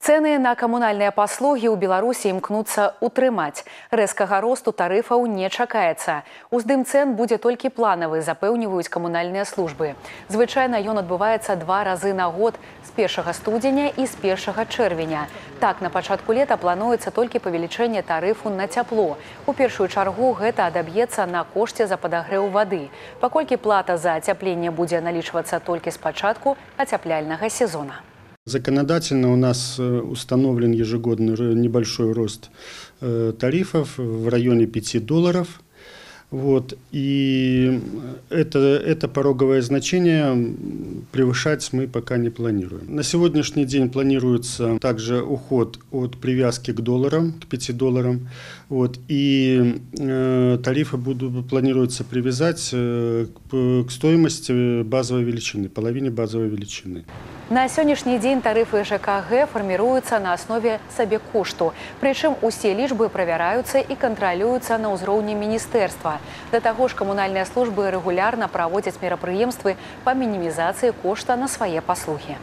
Цэны на камунальныя паслугі ў Беларусі імкнуцца ўтрымаць. Рэзкага росту тарыфаў не чакаецца. Уздым цэн будзе толькі планавы, запэўніваюць камунальныя службы. Звычайна ён адбываецца 2 разы на год з 1 студзеня і з 1 чэрвеня. Так, на пачатку лета плануецца толькі павелічэнне тарыфу на цяпло. У першую чаргу гэта адаб'ецца на кошце за падагрэў вады, паколькі плата за ацяпленне будзе налічвацца толькі з пачатку ацяпляльнага сезона. Законодательно у нас установлен ежегодный небольшой рост тарифов в районе $5. Вот. И это пороговое значение превышать мы пока не планируем. На сегодняшний день планируется также уход от привязки к долларам, к $5. Вот. И тарифы планируется привязать к стоимости базовой величины, половине базовой величины. На сённяшні дзень тарыфы ЖКГ фарміруюцца на аснове сабекошту. Прычым усе лічбы правяраюцца і кантралююцца на ўзроўні міністэрства. Да таго ж камунальныя службы рэгулярна праводзяць мерапрыемствы па мінімізацыі кошта на свае паслугі.